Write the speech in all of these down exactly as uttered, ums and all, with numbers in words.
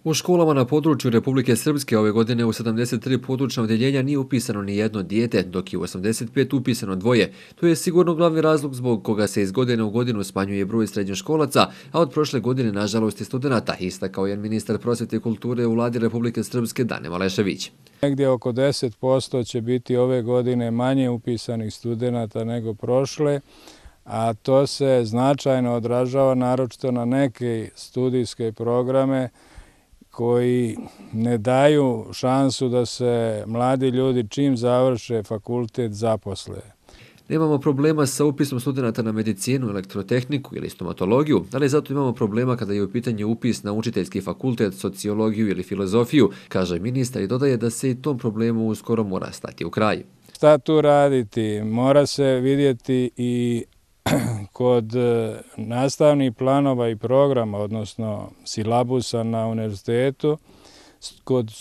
U školama na području Republike Srpske ove godine u sedamdeset tri područna odjeljenja nije upisano ni jedno dijete, dok je u osamdeset pet upisano dvoje. To je sigurno glavni razlog zbog koga se iz godine u godinu smanjuje broj srednjoškolaca, a od prošle godine nažalost i studenata, istakao je ministar prosvjete i kulture u vladi Republike Srpske Dane Malešević. Negdje oko deset posto će biti ove godine manje upisanih studenata nego prošle, a to se značajno odražava naročito na neke studijske programe koji ne daju šansu da se mladi ljudi čim završe fakultet zaposle. Nemamo problema sa upisom studenata na medicinu, elektrotehniku ili stomatologiju, ali zato imamo problema kada je u pitanju upis na učiteljski fakultet, sociologiju ili filozofiju, kaže ministar i dodaje da se i tom problemu uskoro mora stati u kraj. Šta tu raditi? Mora se vidjeti i kod nastavnih planova i programa, odnosno silabusa na univerzitetu, kod,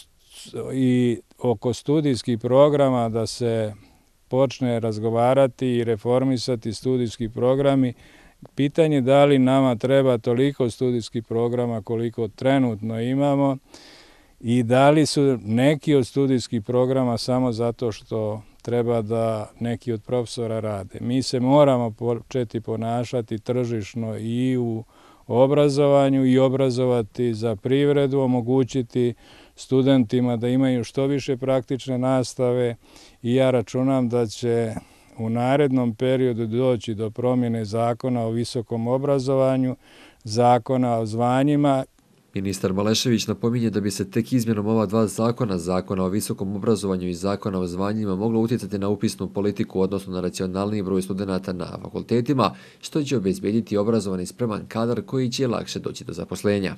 i oko studijskih programa da se počne razgovarati i reformisati studijski programi. Pitanje da li nama treba toliko studijskih programa koliko trenutno imamo i da li su neki od studijskih programa samo zato što treba da neki od profesora rade. Mi se moramo početi ponašati tržišno i u obrazovanju i obrazovati za privredu, omogućiti studentima da imaju što više praktične nastave i ja računam da će u narednom periodu doći do promjene zakona o visokom obrazovanju, zakona o zvanjima. Ministar Malešević napominje da bi se tek izmjenom ova dva zakona, zakona o visokom obrazovanju i zakona o zvanjima, moglo utjecati na upisnu politiku, odnosno na racionalniji broj studenata na fakultetima, što će obezbediti obrazovani spreman kadar koji će lakše doći do zaposlenja.